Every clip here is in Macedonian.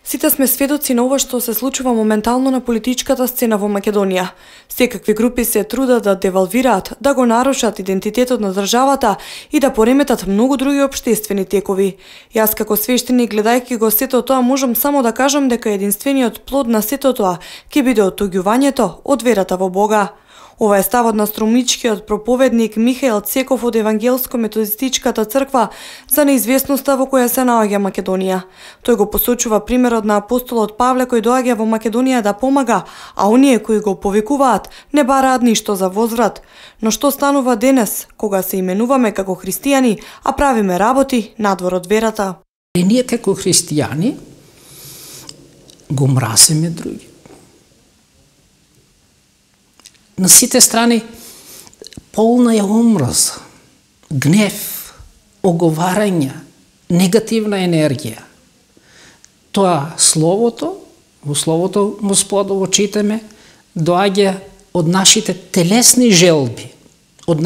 Сите сме сведоци на ова што се случува моментално на политичката сцена во Македонија. Секакви групи се трудат да девалвираат, да го нарушат идентитетот на државата и да пореметат многу други општествени текови. Јас како свештеник, гледајќи го сето тоа, можам само да кажам дека единствениот плод на сето тоа ќе биде оттуѓувањето од верата во Бога. Ова е ставот на струмничкиот проповедник Михаил Цеков од Евангелско-методистичката црква за неизвестноста во која се наоѓа Македонија. Тој го посочува примерот на апостолот Павле кој доаѓа во Македонија да помага, а оние кои го повикуваат не бараат ништо за возврат. Но што станува денес, кога се именуваме како христијани, а правиме работи надвор од верата? И ние како христијани го мразиме други. На сите страни полна е омраз, гнев, оговарање, негативна енергија. Тоа словото, во словото Господово читаме, доаѓа од нашите телесни желби, од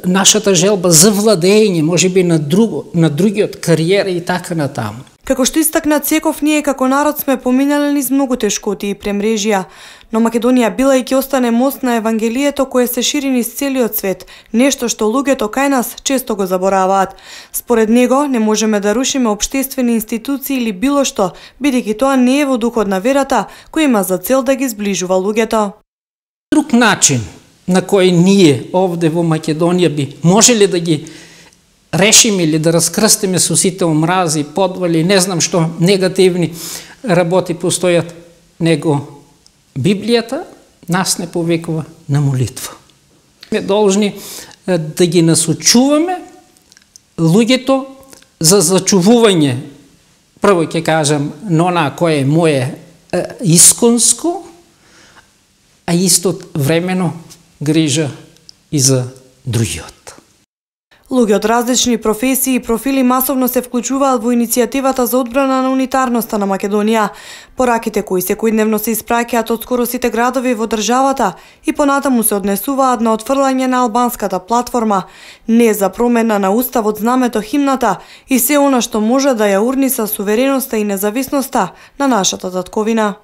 нашата желба за владење, можеби на другиот, кариера и така натаму. Како што истакна Цеков, ние како народ сме поминали низ многу тешкоти и премрежија, но Македонија била и ќе остане мост на Евангелието кое се шири низ целиот свет, нешто што луѓето кај нас често го забораваат. Според него не можеме да рушиме општествени институции или било што, бидејќи тоа не е во духот на верата кој има за цел да ги зближува луѓето. Друг начин на кој ние овде во Македонија би можеле да ги решиме или да раскрстиме со сите омрази, подвали, не знам што негативни работи постојат, него Библијата нас не повикува на молитва. Сме должни да ги насочуваме луѓето за зачувување, прво ќе кажам, на она кое е мое исконско, а исто времено грижа и за другиот. Луѓе од различни професии и профили масовно се вклучуваат во иницијативата за одбрана на унитарноста на Македонија. Пораките кои секојдневно се испраќаат од скоро сите градови во државата и понатаму се однесуваат на отфрлање на албанската платформа, не за промена на уставот, знамето, химната и се она што може да ја урниса сувереноста и независноста на нашата татковина.